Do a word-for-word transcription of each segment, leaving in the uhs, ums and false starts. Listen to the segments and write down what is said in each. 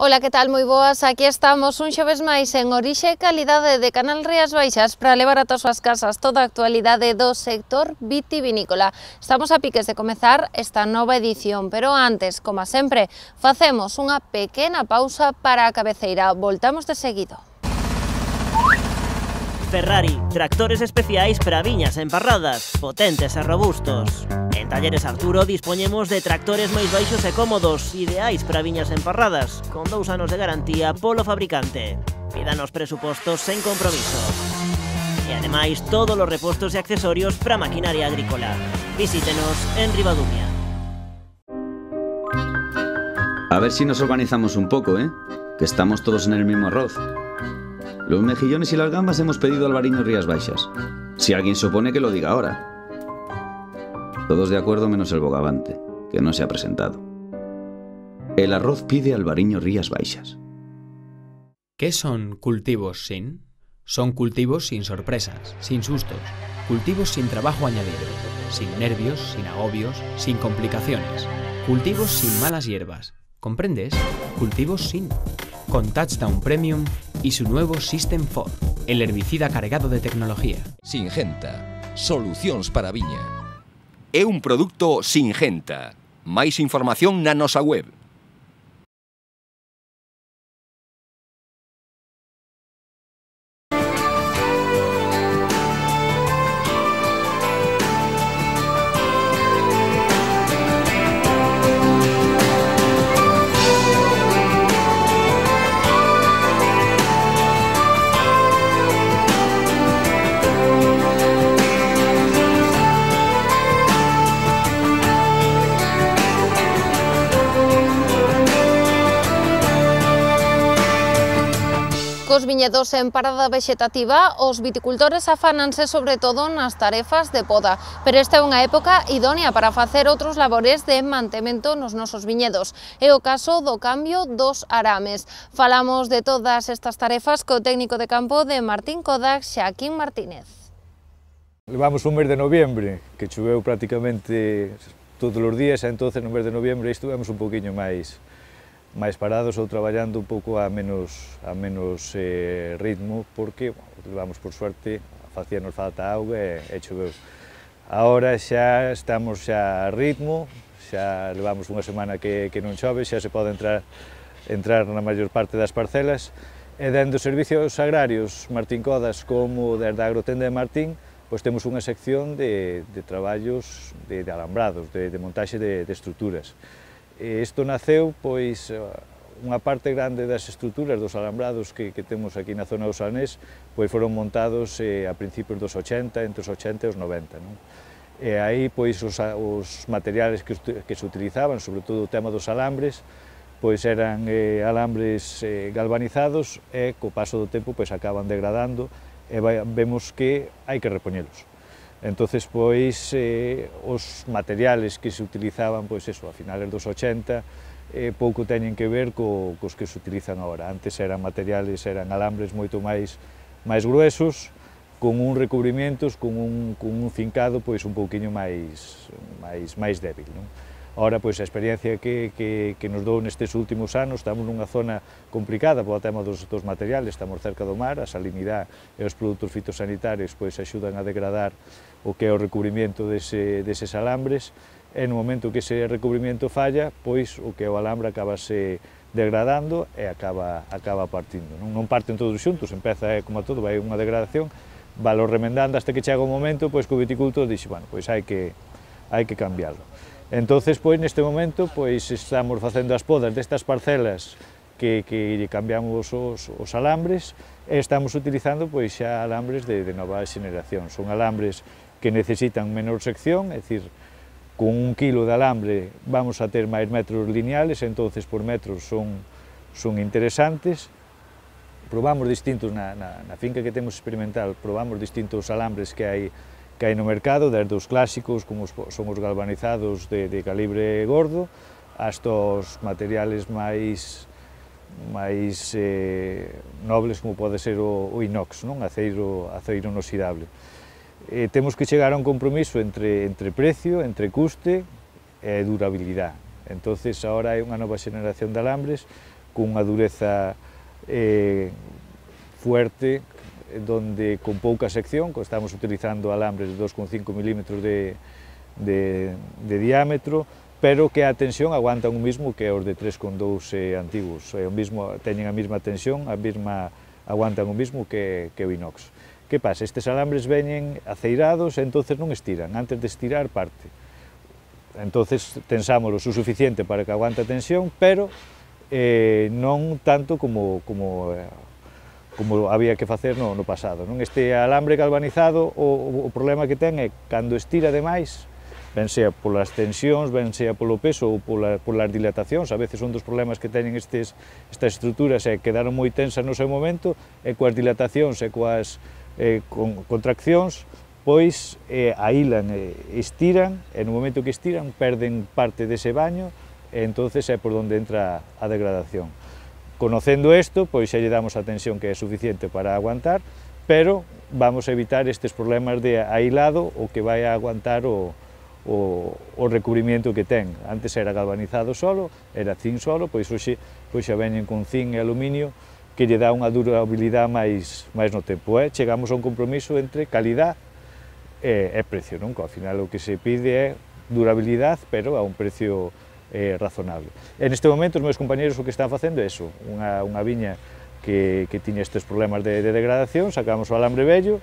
Ola, que tal? Moi boas, aquí estamos un xoves máis en Orixe e Calidade de Canal Rías Baixas para levar ata as súas casas toda a actualidade do sector vitivinícola. Estamos a piques de comezar esta nova edición, pero antes, como sempre, facemos unha pequena pausa para a cabeceira. Voltamos de seguido. Ferrari, tractores especiais para viñas emparradas, potentes e robustos. En Talleres Arturo dispoñemos de tractores máis baixos e cómodos, ideais para viñas emparradas, con dous anos de garantía polo fabricante. Pídanos presupostos sen compromiso. E ademais, todos os repostos e accesorios para maquinaria agrícola. Visítenos en Ribadumia. A ver si nos organizamos un poco, ¿eh? Que estamos todos en el mismo arroz. Los mejillones y las gambas hemos pedido Albariño Rías Baixas. Si alguien se opone, que lo diga ahora. Todos de acuerdo menos el bogavante, que no se ha presentado. El arroz pide Albariño Rías Baixas. ¿Qué son cultivos sin? Son cultivos sin sorpresas, sin sustos, cultivos sin trabajo añadido, sin nervios, sin agobios, sin complicaciones, cultivos sin malas hierbas. ¿Comprendes? Cultivos sin. Con Touchdown Premium y su nuevo System cuatro, el herbicida cargado de tecnología. Singenta, solucións para a viña. É un produto Singenta. Máis información na nosa web. Cos viñedos en parada vexetativa, os viticultores afánanse sobre todo nas tarefas de poda, pero esta é unha época idónea para facer outros labores de mantemento nos nosos viñedos. É o caso do cambio dos arames. Falamos de todas estas tarefas co técnico de campo de Martín Kodak, Xaquín Martínez. Levamos un mes de noviembre, que choveu prácticamente todos os días, e entonces no mes de noviembre estivemos un poquinho máis máis parados ou traballando un pouco a menos, a menos eh, ritmo, porque, bueno, levamos por suerte, facíanos falta auga e, e choveu. Agora xa estamos xa a ritmo, xa levamos unha semana que, que non chove, xa se pode entrar, entrar na maior parte das parcelas, e dende os servicios agrarios Martín Codas como desde a Agrotenda de Martín, pois temos unha sección de, de traballos de, de alambrados, de, de montaxe de, de estruturas. Isto naceu, pois, unha parte grande das estruturas dos alambrados que, que temos aquí na zona do Salnés, pois foron montados eh, a principios dos ochenta, entre os ochenta e os noventa, non? E aí, pois, os, os materiales que, que se utilizaban, sobre todo o tema dos alambres, pois eran eh, alambres eh, galvanizados e, co paso do tempo, pois, acaban degradando e vai, vemos que hai que repoñelos. Entonces, pois, eh, os materiales que se utilizaban, pois, eso, a finales dos ochenta, eh, pouco teñen que ver co, cos que se utilizan agora. Antes eran materiales, eran alambres moito máis, máis gruesos, con un recubrimientos, con un, con un fincado, pois, un pouquiño máis, máis, máis débil, non? Ahora, pois, a experiencia que, que, que nos dou nestes últimos anos, estamos nunha zona complicada polo tema dos, dos materiales, estamos cerca do mar, a salinidade e os produtos fitosanitarios, pois, axudan a degradar o que é o recubrimiento dese, deses alambres, e no momento que ese recubrimiento falla, pois, o que é o alambre acabase degradando e acaba, acaba partindo. Non, non parten todos xuntos, empeza, é, como a todo, vai unha degradación, valo remendando hasta que chega o momento, pois, que o viticultor dixe, bueno, pois, hai que, hai que cambiarlo. Entonces, pois, neste momento, pois, estamos facendo as podas destas parcelas que, que cambiamos os, os alambres e estamos utilizando, pois, xa alambres de, de nova xeneración. Son alambres que necesitan menor sección, é dicir, con un kilo de alambre vamos a ter máis metros lineales, entonces por metros son, son interesantes. Probamos distintos, na, na, na finca que temos experimental, probamos distintos alambres que hai que hai no mercado, desde os clásicos, como os, son os galvanizados de, de calibre gordo, hasta os materiales máis, máis eh, nobles, como pode ser o, o inox, non? Aceiro, aceiro inoxidable. Eh, temos que chegar a un compromiso entre, entre precio, entre custe e durabilidade. Entonces, agora hai unha nova xeneración de alambres cunha dureza eh, fuerte, donde con pouca sección, estamos utilizando alambres de dos coma cinco milímetros de, de, de diámetro, pero que a tensión aguantan o mismo que os de tres coma dous eh, antigos, eh, o mismo, teñen a mesma tensión, a mesma, aguantan o mismo que, que o inox. Que pasa? Estes alambres veñen aceirados e entonces non estiran, antes de estirar parte. Entonces tensámoslo o suficiente para que aguante a tensión, pero eh, non tanto como, como eh, como había que facer no, no pasado. Non? Este alambre galvanizado, o, o problema que ten é cando estira demais, ben sea polas tensións, ben sea polo peso ou pola, polas dilatacións, a veces un dos problemas que teñen estes, estas estruturas é que quedaron moi tensas no seu momento, e coas dilatacións e coas eh, con, contraccións, pois eh, aílan, eh, estiran, e no momento que estiran perden parte dese baño, e entonces é por onde entra a degradación. Conocendo isto, pois xa lle damos a tensión que é suficiente para aguantar, pero vamos a evitar estes problemas de ailado o que vai a aguantar o, o, o recubrimiento que ten. Antes era galvanizado solo, era zinc solo, pois hoxe pois xa veñen con zinc e aluminio que lle dá unha durabilidade máis, máis no tempo. Eh? Chegamos a un compromiso entre calidad e, e precio, non? Que ao final o que se pide é durabilidade, pero a un precio Eh, razonable. En este momento os meus compañeros o que están facendo é iso, unha, unha viña que, que tiña estes problemas de, de degradación, sacamos o alambre vello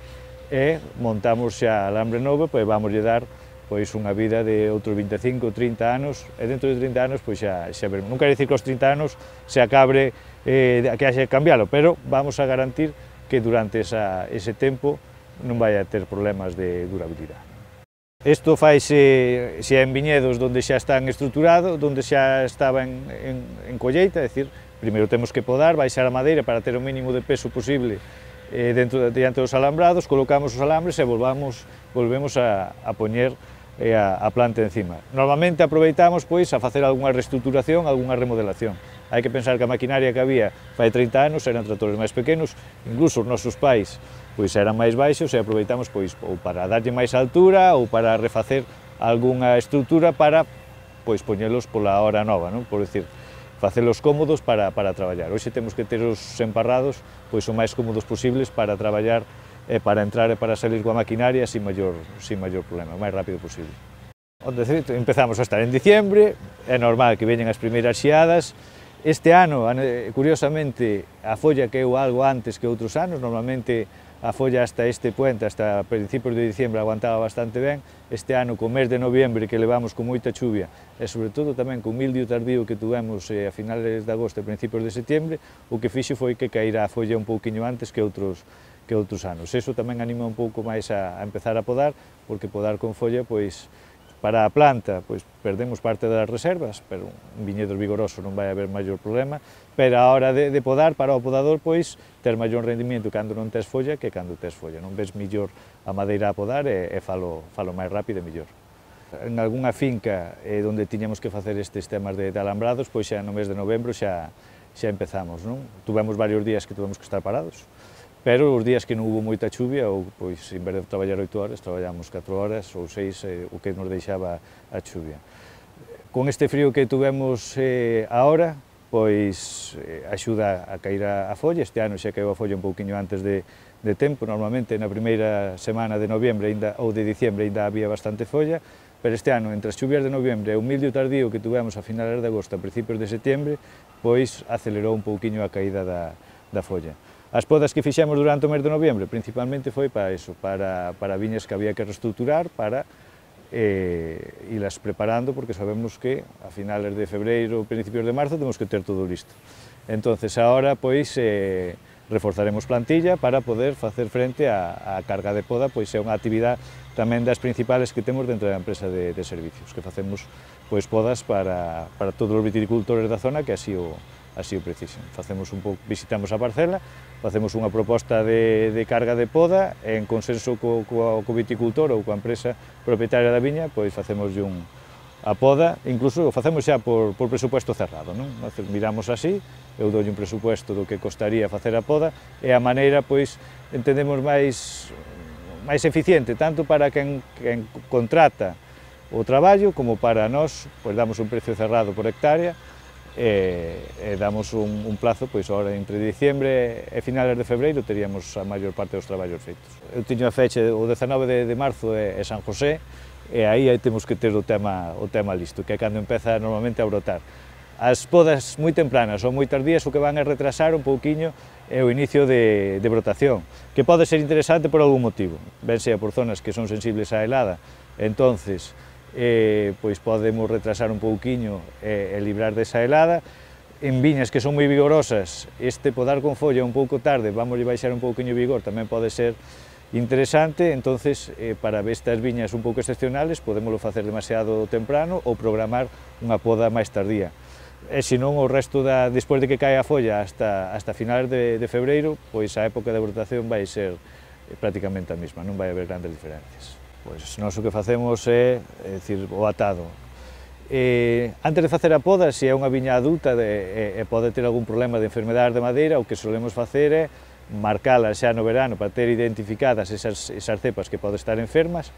e montamos xa alambre novo, pois vamos lle dar pois unha vida de outros vinte e cinco, trinta anos, e dentro de trinta anos pois xa, xa veremos. Non quero dicir que aos trinta anos se acabe eh, que haxe que cambialo, pero vamos a garantir que durante esa, ese tempo non vai a ter problemas de durabilidade. Isto faise xa en viñedos onde xa están estruturados, onde xa estaba en, en, en colleita, é dicir, primeiro temos que podar, baixar a madeira para ter o mínimo de peso posible eh, dentro diante dos alambrados, colocamos os alambres e volvamos, volvemos a, a poñer eh, a, a planta encima. Normalmente aproveitamos pois a facer algunha reestruturación, algunha remodelación. Hai que pensar que a maquinaria que había fai trinta anos eran tratores máis pequenos, incluso os nosos pais pois eran máis baixos e aproveitamos pois ou para darlle máis altura ou para refacer algunha estrutura para pois poñelos pola hora nova, non? Por decir, facelos cómodos para, para traballar. Hoxe temos que ter os emparrados pois o máis cómodos posibles para traballar e para entrar e para salir coa maquinaria sin maior, sin maior problema, o máis rápido posible. Onde empezamos a estar en diciembre, é normal que veñen as primeiras xiadas. Este ano, curiosamente, a folla queu algo antes que outros anos, normalmente a folla hasta este puente, hasta principios de diciembre, aguantaba bastante ben. Este ano, co mes de noviembre, que levamos con moita chuvia, e sobre todo tamén con mildio tardío que tuvemos eh, a finales de agosto e principios de setembro, o que fixo foi que caíra a folla un pouquiño antes que outros, que outros anos. Eso tamén anima un pouco máis a, a empezar a podar, porque podar con folla, pois, para a planta, pois perdemos parte das reservas, pero un viñedo vigoroso non vai haber maior problema, pero a hora de, de podar, para o podador, pois, ter maior rendimento cando non tes folla que cando tes folla, non ves millor a madeira a podar e, e falo, falo máis rápido e millor. En algunha finca eh, onde tiñamos que facer estes temas de, de alambrados, pois xa no mes de novembro xa, xa empezamos, non? Tuvemos varios días que tuvemos que estar parados, pero os días que non hubo moita chuvia, ou, pois, en vez de traballar oito horas, traballamos catro horas ou seis, eh, o que nos deixaba a chuvia. Con este frío que tuvemos eh, ahora, pois eh, axuda a cair a, a folla. Este ano xa caíu a folla un pouquiño antes de, de tempo, normalmente na primeira semana de noviembre ainda, ou de diciembre ainda había bastante folla, pero este ano, entre as chuvias de noviembre e o mildio tardío que tuvemos a finales de agosto, a principios de setembro, pois acelerou un pouquiño a caída da, da folla. As podas que fixemos durante o mes de noviembre principalmente foi para iso, para, para viñas que había que reestruturar, para eh, ilas preparando, porque sabemos que a finales de febreiro, principios de marzo, temos que ter todo listo. Entonces, agora, pois, eh, reforzaremos plantilla para poder facer frente á, á carga de poda, pois é unha actividade tamén das principales que temos dentro da empresa de, de servicios, que facemos pois podas para, para todos os viticultores da zona que así o, así o precisen. Facemos un pouco, visitamos a parcela, facemos unha proposta de, de carga de poda, en consenso co, co, co viticultor ou coa empresa propietaria da viña, pois facemos un, a poda, incluso o facemos xa por, por presupuesto cerrado, non? Miramos así, eu dou un presupuesto do que costaría facer a poda, e a maneira, pois, entendemos máis, máis eficiente, tanto para quen, quen contrata o traballo, como para nós, pois damos un precio cerrado por hectárea, e, e damos un, un plazo, pois agora entre diciembre e finales de febreiro teríamos a maior parte dos traballos feitos. Eu tiño a fecha o dezanove de, de marzo é, é San José, e aí, aí temos que ter o tema, o tema listo, que é cando empeza normalmente a brotar. As podas moi tempranas ou moi tardías o que van a retrasar un pouquiño é o inicio de, de brotación, que pode ser interesante por algún motivo, ben sea por zonas que son sensibles á helada, entonces eh, pois podemos retrasar un pouquiño e, e librar desa helada. En viñas que son moi vigorosas, este podar con folla un pouco tarde, vamos a baixar un pouquiño de vigor, tamén pode ser interesante, entonces eh, para estas viñas un pouco excepcionales podémoslo facer demasiado temprano ou programar unha poda máis tardía. E senón o resto, da, despois de que cae a folla hasta, hasta finales de, de febreiro, pois a época de brotación vai ser eh, prácticamente a mesma, non vai haber grandes diferencias. Pois nós o que facemos é, é dicir, o atado. Eh, antes de facer a poda, se é unha viña adulta e, e pode ter algún problema de enfermedade de madeira, o que solemos facer é marcala xa no verano para ter identificadas esas, esas cepas que poden estar enfermas,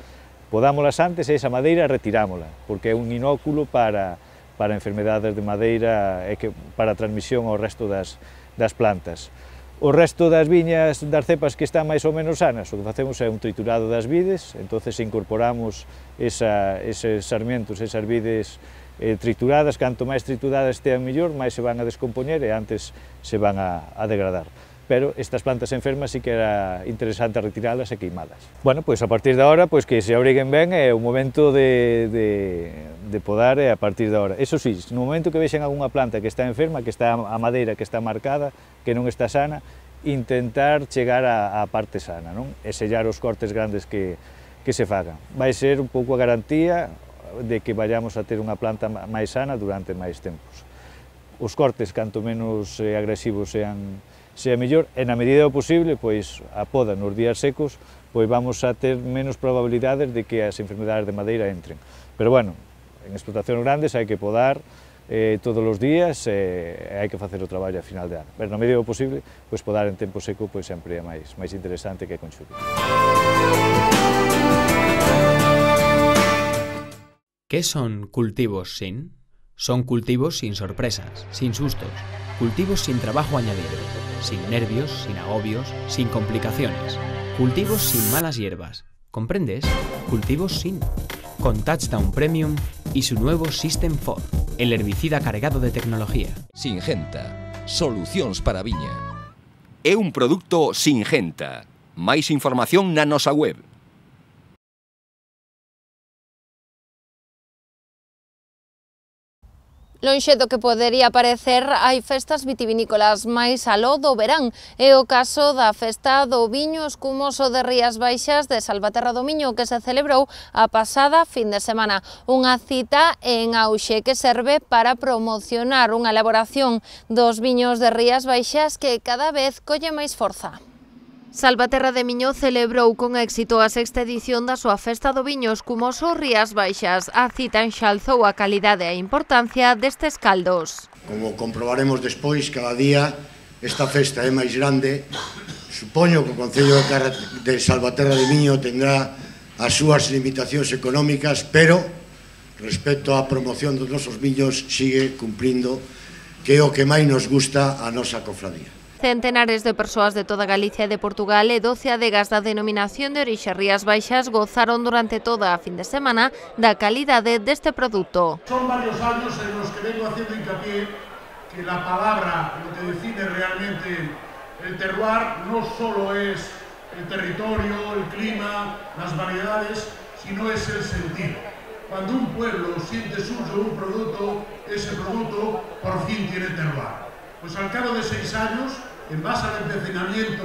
podámolas antes e esa madeira retirámola, porque é un inóculo para, para enfermedades de madeira e que, para a transmisión ao resto das, das plantas. O resto das viñas, das cepas que están máis ou menos sanas, o que facemos é un triturado das vides, entonces incorporamos esa, eses sarmientos, esas vides eh, trituradas, canto máis trituradas estean mellor, máis se van a descompoñer e antes se van a, a degradar. Pero estas plantas enfermas sí que era interesante retiralas e queimadas. Bueno, pois a partir de ahora, pois que se abriguen ben é o momento de, de, de podar e a partir de ahora. Eso sí, no momento que vexen algunha planta que está enferma, que está a madeira que está marcada, que non está sana, intentar chegar á parte sana, non? E sellar os cortes grandes que, que se fagan. Vai ser un pouco a garantía de que vayamos a ter unha planta máis sana durante máis tempos. Os cortes, canto menos eh, agresivos sean, sea mellor, e na medida do posible, pois a poda nos días secos, pois vamos a ter menos probabilidades de que as enfermedades de madeira entren. Pero bueno, en explotacións grandes hai que podar eh, todos os días e eh, hai que facer o traballo a final de ano. Pero na medida do posible, pois podar en tempo seco pois sempre é máis, máis interesante que con chuvia. ¿Qué son cultivos sin? Son cultivos sin sorpresas, sin sustos, cultivos sin trabajo añadido, sin nervios, sin agobios, sin complicaciones, cultivos sin malas hierbas, ¿comprendes? Cultivos sin, con Touchdown Premium y su nuevo System cuatro, el herbicida cargado de tecnología. Singenta, solucións para a viña. É un produto Singenta. Máis información na nosa web. Lonxe do que podería parecer, hai festas vitivinícolas máis aló do verán. É o caso da festa do viño escumoso de Rías Baixas de Salvaterra do Miño, que se celebrou a pasada fin de semana. Unha cita en auxe que serve para promocionar unha elaboración dos viños de Rías Baixas que cada vez colle máis forza. Salvaterra de Miño celebrou con éxito a sexta edición da súa festa do viño escumoso Rías Baixas. A cita enxalzou a calidade e a importancia destes caldos. Como comprobaremos despois, cada día esta festa é máis grande. Supoño que o Concello de Salvaterra de Miño tendrá as súas limitacións económicas, pero respecto á promoción dos nosos viños sigue cumprindo, que é o que máis nos gusta a nosa cofradía. Centenares de persoas de toda Galicia e de Portugal e doce adegas da denominación de orixe Rías Baixas gozaron durante toda a fin de semana da calidade deste produto. Son varios años en los que vengo haciendo hincapié que la palabra, lo que define realmente el terroir, no solo es el territorio, el clima, las variedades, sino es el sentir. Cuando un pueblo siente suyo un producto, ese producto por fin tiene terroir. Pues al cabo de seis años, en base al empecinamiento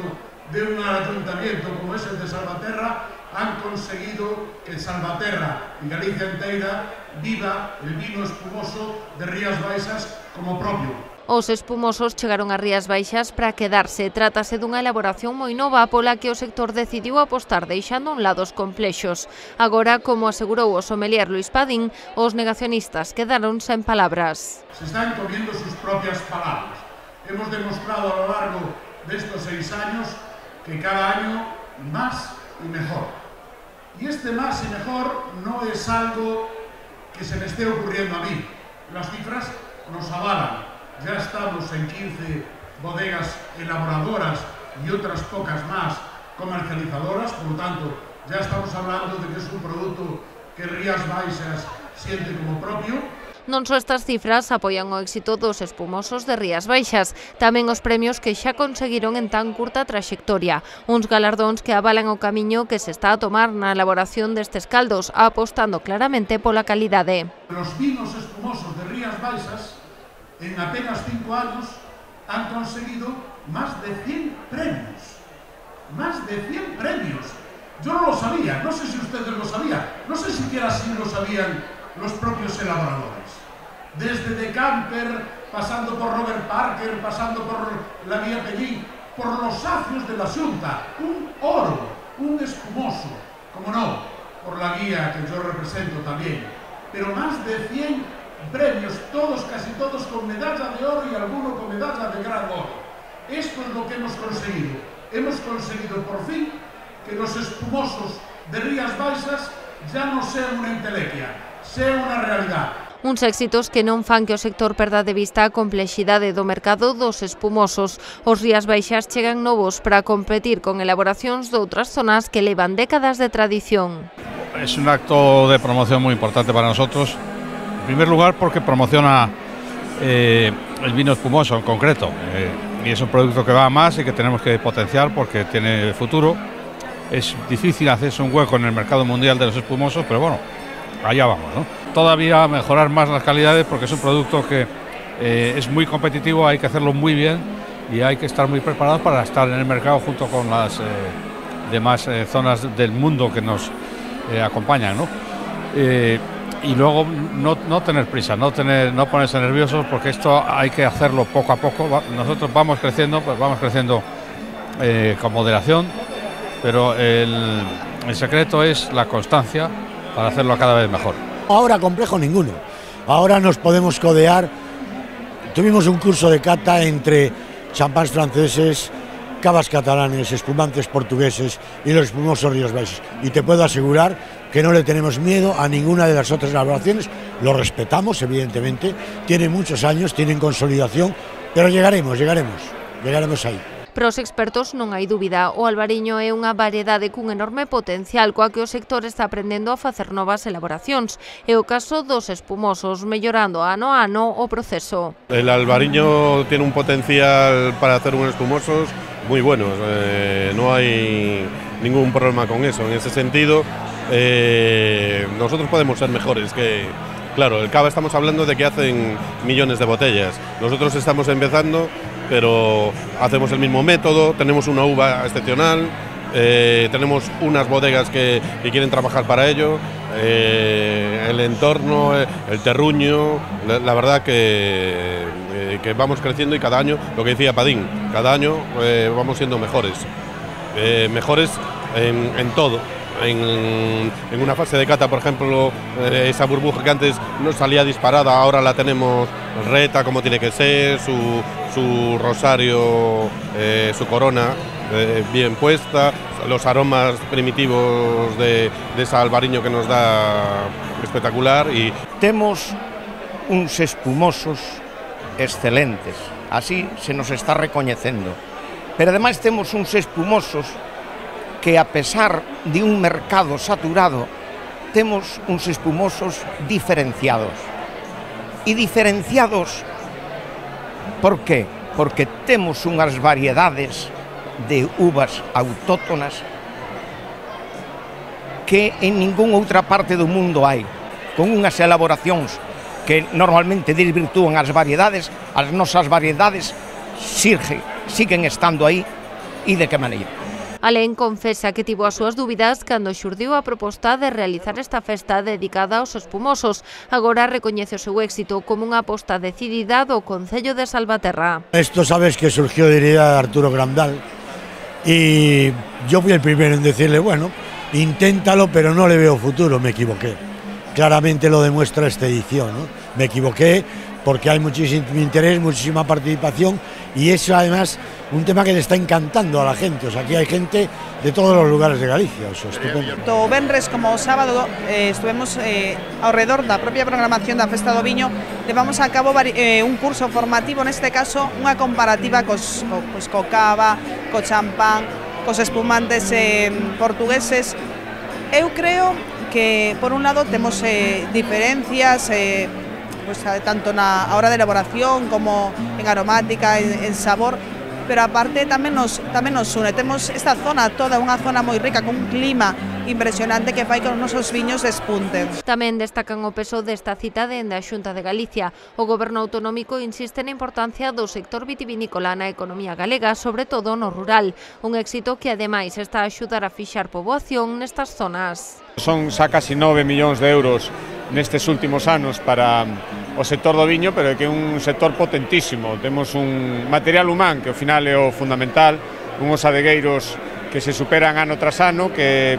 de un ayuntamiento como es el de Salvaterra, han conseguido que Salvaterra y Galicia entera viva el vino espumoso de Rías Baixas como propio. Os espumosos chegaron a Rías Baixas para quedarse. Trátase dunha elaboración moi nova pola que o sector decidiu apostar deixando a un lado os complexos. Agora, como asegurou o sommelier Luis Padín, os negacionistas quedaron sen palabras. Se están comiendo sus propias palabras. Hemos demostrado a lo largo de estos seis años que cada año más y mejor. Y este más y mejor no es algo que se me esté ocurriendo a mí. Las cifras nos avalan. Ya estamos en quince bodegas elaboradoras y otras pocas más comercializadoras, por lo tanto, ya estamos hablando de que es un producto que Rías Baixas siente como propio. Non só estas cifras apoian o éxito dos espumosos de Rías Baixas, tamén os premios que xa conseguiron en tan curta traxectoria, uns galardóns que avalan o camiño que se está a tomar na elaboración destes caldos, apostando claramente pola calidade. Los vinos espumosos de Rías Baixas, en apenas cinco años, han conseguido más de cien premios. Más de cien premios. Yo no lo sabía, no sé si ustedes lo sabían, no sé siquiera si lo sabían los propios elaboradores. Desde De Camper, pasando por Robert Parker, pasando por la Guía Pellín, por los sacios de la Xunta, un oro, un espumoso, como no, por la guía que yo represento también, pero más de cien premios, todos, casi todos con medalla de oro y alguno con medalla de gran oro. Esto es lo que hemos conseguido. Hemos conseguido por fin que los espumosos de Rías Baixas ya no sean una entelequia, sean una realidad. Uns éxitos que non fan que o sector perda de vista a complexidade do mercado dos espumosos. Os Rías Baixas chegan novos para competir con elaboracións de outras zonas que levan décadas de tradición. Es un acto de promoción muy importante para nosotros. En primer lugar porque promociona eh, el vino espumoso en concreto. Eh, y es un producto que va a más y que tenemos que potenciar porque tiene futuro. Es difícil hacerse un hueco en el mercado mundial de los espumosos, pero bueno, allá vamos, ¿no? Todavía mejorar más las calidades porque es un producto que eh, es muy competitivo, hay que hacerlo muy bien y hay que estar muy preparados para estar en el mercado junto con las eh, demás eh, zonas del mundo que nos eh, acompañan, ¿no? Eh, y luego no, no tener prisa, no, tener, no ponerse nerviosos porque esto hay que hacerlo poco a poco. Nosotros vamos creciendo, pues vamos creciendo eh, con moderación, pero el, el secreto es la constancia para hacerlo cada vez mejor. Ahora complejo ninguno, ahora nos podemos codear. Tuvimos un curso de cata entre champáns franceses, cavas catalanes, espumantes portugueses y los espumosos Rías Baixas, y te puedo asegurar que no le tenemos miedo a ninguna de las otras elaboraciones, lo respetamos evidentemente, tienen muchos años, tienen consolidación, pero llegaremos, llegaremos, llegaremos ahí. Para os expertos non hai dúbida, o albariño é unha variedade cun enorme potencial coa que o sector está aprendendo a facer novas elaboracións. É o caso dos espumosos, mellorando ano a ano o proceso. El albariño tiene un potencial para hacer unos espumosos muy buenos, eh, no hay ningún problema con eso. En ese sentido, eh, nosotros podemos ser mejores que... Claro, el cava estamos hablando de que hacen millones de botellas, nosotros estamos empezando, pero hacemos el mismo método, tenemos una uva excepcional, eh, tenemos unas bodegas que, que quieren trabajar para ello, eh, el entorno, el terruño, la, la verdad que, eh, que vamos creciendo y cada año, lo que decía Padín, cada año eh, vamos siendo mejores, eh, mejores en, en todo. En, en una fase de cata, por ejemplo, eh, esa burbuja que antes no salía disparada, ahora la tenemos reta como tiene que ser, su, su rosario, eh, su corona eh, bien puesta, los aromas primitivos de, de ese albariño que nos da espectacular. Y temos uns espumosos excelentes, así se nos está recoñecendo, pero ademais temos uns espumosos que a pesar de un mercado saturado, temos uns espumosos diferenciados. E diferenciados, por qué? Porque temos unhas variedades de uvas autóctonas que en ninguna outra parte do mundo hai, con unhas elaboracións que normalmente desvirtúan as variedades, as nosas variedades xirge, siguen estando aí, e de que maneira? Alén confesa que tivo as súas dúbidas cando xurdiu a proposta de realizar esta festa dedicada aos espumosos. Agora recoñece o seu éxito como unha aposta decidida do Concello de Salvaterra. Esto sabes que surgió de idea de Arturo Grandal y yo fui el primero en decirle, bueno, inténtalo, pero no le veo futuro. Me equivoqué. Claramente lo demuestra esta edición, ¿no? Me equivoqué porque hay muchísimo interés, muchísima participación y eso además un tema que le está encantando a la gente. O sea, aquí hay gente de todos los lugares de Galicia, o sea, estupendo. Tanto o venres como o sábado eh, estuvemos eh, ao redor da propia programación da Festa do Viño, levamos a cabo eh, un curso formativo, neste caso unha comparativa cos, co, pues, co cava, co champán, cos espumantes eh, portugueses. Eu creo que, por un lado, temos eh, diferencias, eh, pues, tanto na hora de elaboración como en aromática, en, en sabor, pero aparte tamén nos, tamén nos une. Temos esta zona toda, unha zona moi rica, con un clima impresionante que fai que os nosos viños despunten. Tamén destacan o peso desta cita dende a Xunta de Galicia. O Goberno autonómico insiste na importancia do sector vitivinícola na economía galega, sobre todo no rural. Un éxito que ademais está a axudar a fixar poboación nestas zonas. Son xa casi nove millóns de euros nestes últimos anos para o sector do viño, pero é que é un sector potentísimo. Temos un material humán que ao final é o fundamental, unhos adegueiros que se superan ano tras ano, que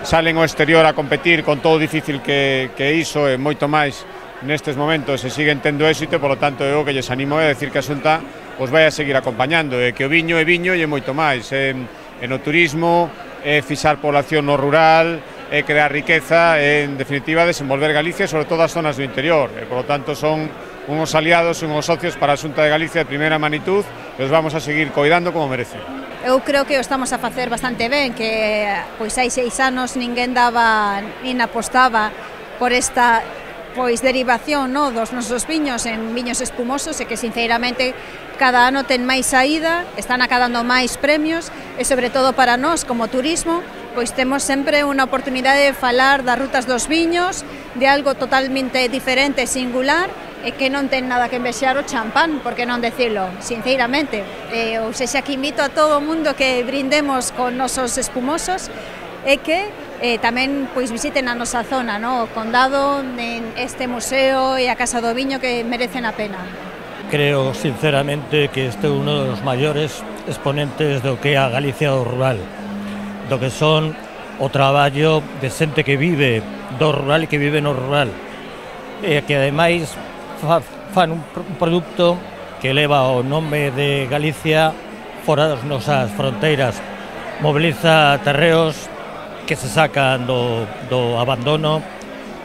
salen ao exterior a competir con todo o difícil que, que iso e moito máis nestes momentos e siguen tendo éxito, e polo tanto eu que lles animo é decir que a Xunta os vai a seguir acompañando, e que o viño é viño e é moito máis, é, é no turismo, é fixar población no rural, é crear riqueza e, en definitiva, desenvolver Galicia, sobre todo as zonas do interior. E, por lo tanto, son unhos aliados e unhos socios para a Xunta de Galicia de primeira magnitud e os vamos a seguir coidando como merece. Eu creo que o estamos a facer bastante ben, que pois hai seis anos ninguén daba, nin apostaba por esta pois derivación, no, dos nosos viños en viños espumosos, e que sinceramente cada ano ten máis saída, están acadando máis premios e sobre todo para nós como turismo, pois temos sempre unha oportunidade de falar das rutas dos viños, de algo totalmente diferente e singular, e que non ten nada que envexar o champán, por que non decirlo, sinceramente. Eh, ou sexa, que invito a todo o mundo que brindemos con nosos espumosos e que eh, tamén pois visiten a nosa zona, no? O Condado, en este museo e a Casa do Viño, que merecen a pena. Creo sinceramente que este é uno dos maiores exponentes do que é a Galicia do rural, do que son o traballo de xente que vive do rural e que vive no rural, e que ademais fa, fan un, un produto que leva o nome de Galicia fora das nosas fronteiras, moviliza terreos que se sacan do, do abandono,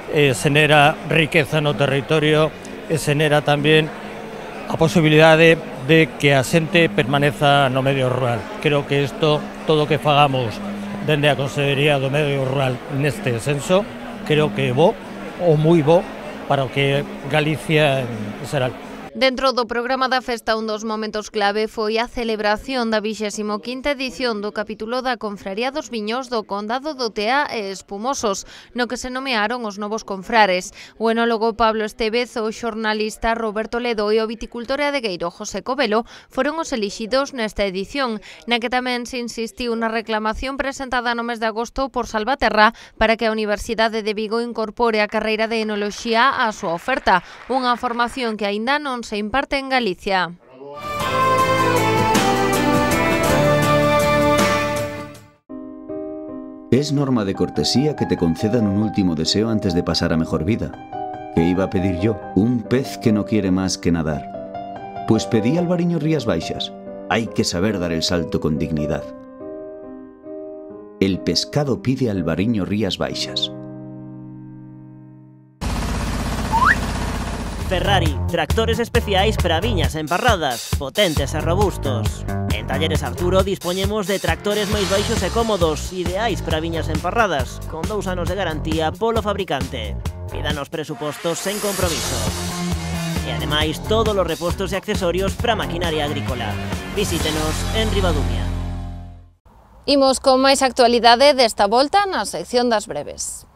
e xenera riqueza no territorio e xenera tamén a posibilidade de que a xente permaneza no medio rural. Creo que isto, todo o que fagamos dende a Consellería do Medio Rural neste senso, creo que é bo, ou moi bo, para o que Galicia en xeral. Dentro do programa da festa, un dos momentos clave foi a celebración da vixésima quinta edición do capítulo da Confraría dos Viños do Condado do Tea e Espumosos, no que se nomearon os novos confrares. O enólogo Pablo Estevez, o xornalista Roberto Ledo e o viticultor e adegueiro José Covelo foron os elixidos nesta edición, na que tamén se insistiu na reclamación presentada no mes de agosto por Salvaterra para que a Universidade de Vigo incorpore a carreira de enoloxía á súa oferta, unha formación que aínda non se imparte en Galicia. Es norma de cortesía que te concedan un último deseo antes de pasar a mejor vida. ¿Qué iba a pedir yo? Un pez que no quiere más que nadar. Pues pedí Alvariño Rías Baixas. Hay que saber dar el salto con dignidad. El pescado pide Alvariño Rías Baixas. Ferrari, tractores especiais para viñas emparradas, potentes e robustos. En Talleres Arturo dispoñemos de tractores máis baixos e cómodos, ideais para viñas emparradas, con dous anos de garantía polo fabricante. Pídanos presupostos sen compromiso. E ademais, todos os repostos e accesorios para maquinaria agrícola. Visítenos en Ribadumia. Imos con máis actualidade desta volta na sección das breves.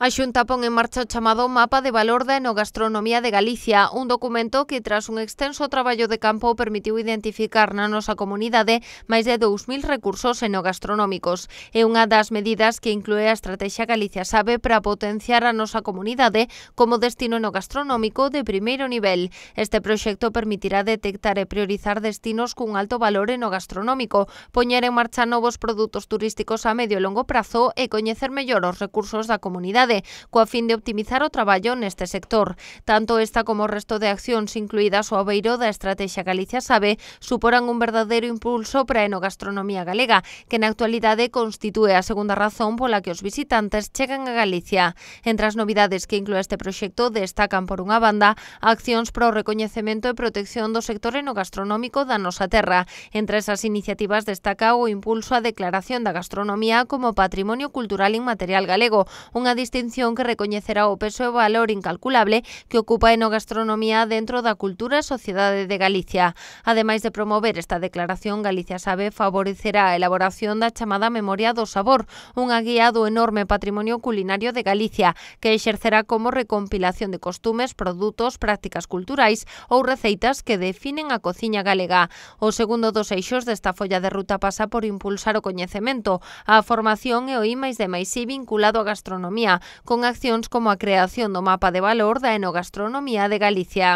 A Xunta pon en marcha o chamado Mapa de Valor da Enogastronomía de Galicia, un documento que, tras un extenso traballo de campo, permitiu identificar na nosa comunidade máis de dous mil recursos enogastronómicos. É unha das medidas que inclúe a Estrategia Galicia Sabe para potenciar a nosa comunidade como destino enogastronómico de primeiro nivel. Este proxecto permitirá detectar e priorizar destinos cun alto valor enogastronómico, poñer en marcha novos produtos turísticos a medio e longo prazo e coñecer mellor os recursos da comunidade, comunidade, coa fin de optimizar o traballo neste sector. Tanto esta como o resto de accións incluídas o abeiro da Estrategia Galicia Sabe suporan un verdadeiro impulso para a enogastronomía galega, que na actualidade constitúe a segunda razón pola que os visitantes chegan a Galicia. Entre as novidades que inclúe este proxecto destacan, por unha banda, accións para o recoñecemento e protección do sector enogastronómico da nosa terra. Entre esas iniciativas destaca o impulso á declaración da gastronomía como Patrimonio Cultural Inmaterial Galego, unha distinción que recoñecerá o peso e valor incalculable que ocupa a enogastronomía dentro da cultura e sociedade de Galicia. Ademais de promover esta declaración, Galicia Sabe favorecerá a elaboración da chamada Memoria do Sabor, unha guía do enorme patrimonio culinario de Galicia, que exercerá como recompilación de costumes, produtos, prácticas culturais ou receitas que definen a cociña galega. O segundo dos eixos desta folla de ruta pasa por impulsar o coñecemento, a formación e o I máis D máis I vinculado á gastronomía, con accións como a creación do mapa de valor da enogastronomía de Galicia.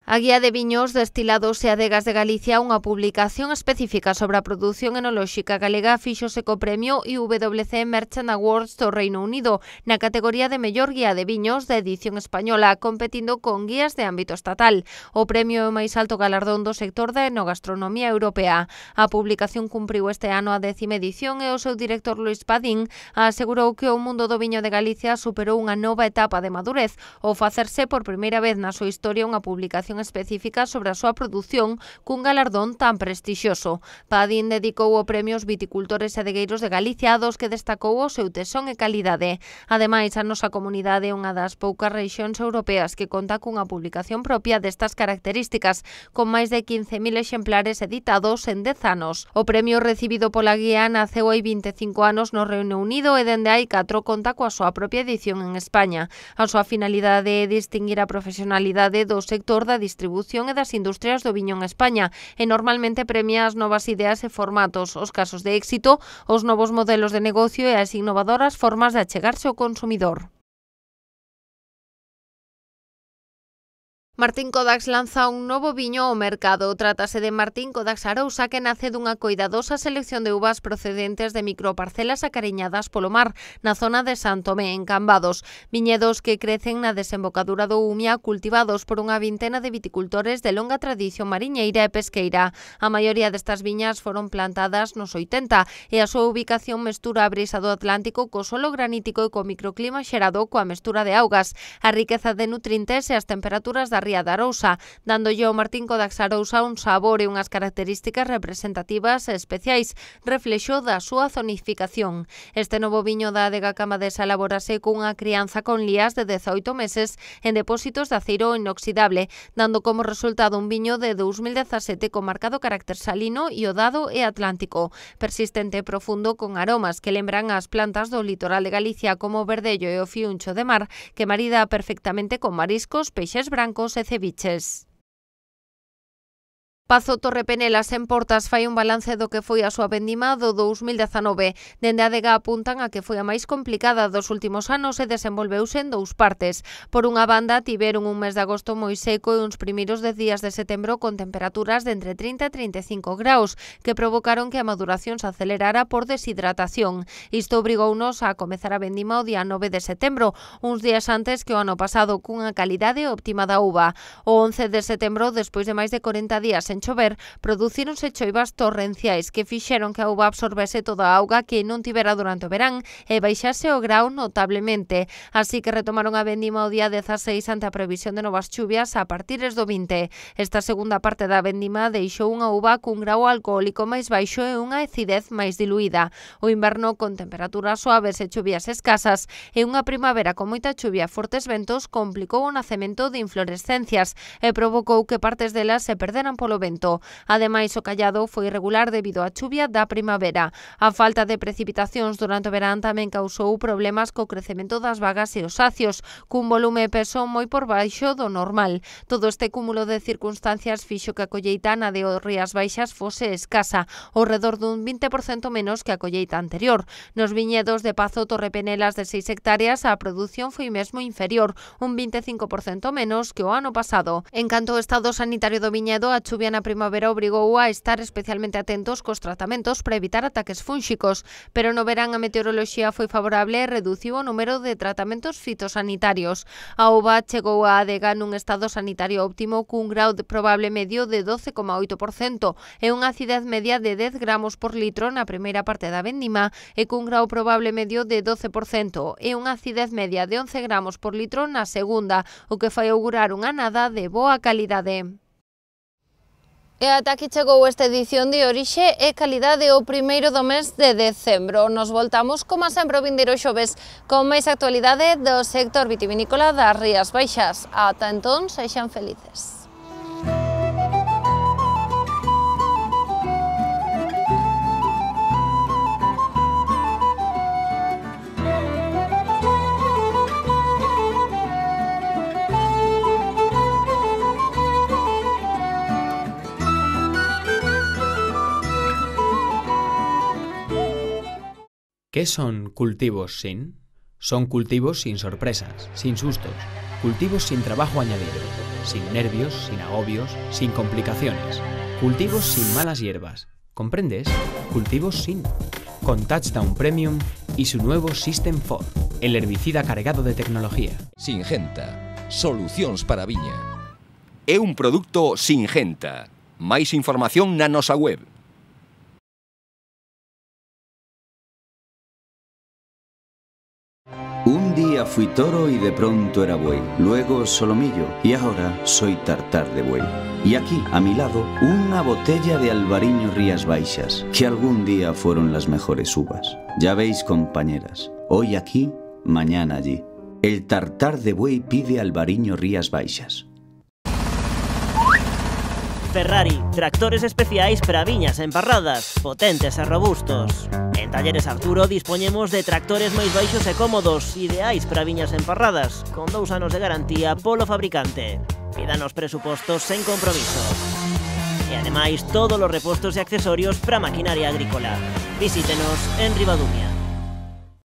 A Guía de Viños, Destilados e Adegas de Galicia, unha publicación específica sobre a produción enolóxica galega, fíxose co premio I W C Merchant Awards do Reino Unido na categoría de mellor guía de viños da edición española, competindo con guías de ámbito estatal. O premio é o máis alto galardón do sector da enogastronomía europea. A publicación cumpriu este ano a décima edición e o seu director Luís Padín asegurou que o mundo do viño de Galicia superou unha nova etapa de madurez ao facerse por primeira vez na súa historia unha publicación específica sobre a súa produción cun galardón tan prestixioso. Padín dedicou o premio aos viticultores e adegueiros de Galicia, dos que destacou o seu tesón e calidade. Ademais, a nosa comunidade é unha das poucas rexións europeas que conta cunha publicación propia destas características, con máis de quince mil exemplares editados en dez anos. O premio recibido pola guía naceu hai vinte e cinco anos no Reino Unido e dende hai catro conta coa súa propia edición en España. A súa finalidade é distinguir a profesionalidade do sector da distribución e das industrias do viño en España e normalmente premia as novas ideas e formatos, os casos de éxito, os novos modelos de negocio e as innovadoras formas de achegarse ao consumidor. Martín Codax lanza un novo viño ao mercado. Trátase de Martín Codax Arousa, que nace dunha coidadosa selección de uvas procedentes de microparcelas acariñadas polo mar, na zona de San Tomé, en Cambados. Viñedos que crecen na desembocadura do Umia, cultivados por unha vintena de viticultores de longa tradición mariñeira e pesqueira. A maioría destas viñas foron plantadas nos oitenta e a súa ubicación mestura a brisa do Atlántico co solo granítico e co microclima xerado coa mestura de augas, a riqueza de nutrientes e as temperaturas da ría da Arousa, dándolle ao Martín Codax Arousa un sabor e unhas características representativas e especiais, reflexo da súa zonificación. Este novo viño da adega camabesa elabórase cunha crianza con lías de dezaoito meses en depósitos de aceiro inoxidable, dando como resultado un viño de dous mil dezasete con marcado carácter salino, iodado e atlántico, persistente e profundo, con aromas que lembran as plantas do litoral de Galicia como o verdello e o fiuncho de mar, que marida perfectamente con mariscos, peixes brancos e ceviches. Pazo Torrepenelas en Portas fai un balance do que foi a súa vendima do dous mil dezanove. Dende a adega apuntan a que foi a máis complicada dos últimos anos e desenvolveuse en dous partes. Por unha banda, tiveron un mes de agosto moi seco e uns primeiros dez días de setembro con temperaturas de entre trinta e trinta e cinco graus, que provocaron que a maduración se acelerara por deshidratación. Isto obrigounos a comezar a vendima o día nove de setembro, uns días antes que o ano pasado, cunha calidade óptima da uva. O once de setembro, despois de máis de corenta días en chover, producíronse choivas torrenciais que fixeron que a uva absorbese toda a auga que non tivera durante o verán e baixase o grau notablemente. Así que retomaron a vendima o día dezaseis ante a previsión de novas chuvias a partires do vinte. Esta segunda parte da vendima deixou unha uva cun grau alcohólico máis baixo e unha acidez máis diluída. O inverno con temperaturas suaves e chuvias escasas e unha primavera con moita chuvia e fortes ventos complicou o nacemento de inflorescencias e provocou que partes delas se perderan polo vento. Ademais, o callado foi irregular debido á chuvia da primavera. A falta de precipitacións durante o verán tamén causou problemas co crecemento das vagas e os acios, cun volume e peso moi por baixo do normal. Todo este cúmulo de circunstancias fixo que a colleita na de Rías Baixas fose escasa, ao redor dun vinte por cento menos que a colleita anterior. Nos viñedos de Pazo Torrepenelas de seis hectáreas, a produción foi mesmo inferior, un vinte e cinco por cento menos que o ano pasado. En canto ao estado sanitario do viñedo, a chuvia na primavera obrigou a estar especialmente atentos cos tratamentos para evitar ataques fúnxicos, pero no verán a meteoroloxía foi favorable e reduciu o número de tratamentos fitosanitarios. A uva chegou a adega nun estado sanitario óptimo cun grau de probable medio de doce coma oito por cento e unha acidez media de dez gramos por litro na primeira parte da vendima e cun grau probable medio de doce por cento e unha acidez media de once gramos por litro na segunda, o que fai augurar unha nada de boa calidade. E ata aquí chegou esta edición de Orixe e Calidade o primeiro do mes de decembro. Nos voltamos, como sempre, o vindeiro xoves con máis actualidade do sector vitivinícola das Rías Baixas. Ata entón, sexan felices. ¿Qué son cultivos sin? Son cultivos sin sorpresas, sin sustos, cultivos sin trabajo añadido, sin nervios, sin agobios, sin complicaciones, cultivos sin malas hierbas. ¿Comprendes? Cultivos sin. Con Touchdown Premium y su nuevo System cuatro, el herbicida cargado de tecnología. Singenta, solucións para a viña. É un produto Singenta. Máis información na nosa web. Un día fui toro y de pronto era buey, luego solomillo y ahora soy tartar de buey. Y aquí, a mi lado, una botella de Albariño Rías Baixas, que algún día fueron las mejores uvas. Ya veis, compañeras, hoy aquí, mañana allí. El tartar de buey pide Albariño Rías Baixas. Ferrari, tractores especiais para viñas emparradas, potentes e robustos. En Talleres Arturo dispoñemos de tractores máis baixos e cómodos, ideais para viñas emparradas, con dous anos de garantía polo fabricante. Pídanos presupostos sen compromiso. E ademais, todos os repostos e accesorios para maquinaria agrícola. Visítenos en Ribadumia.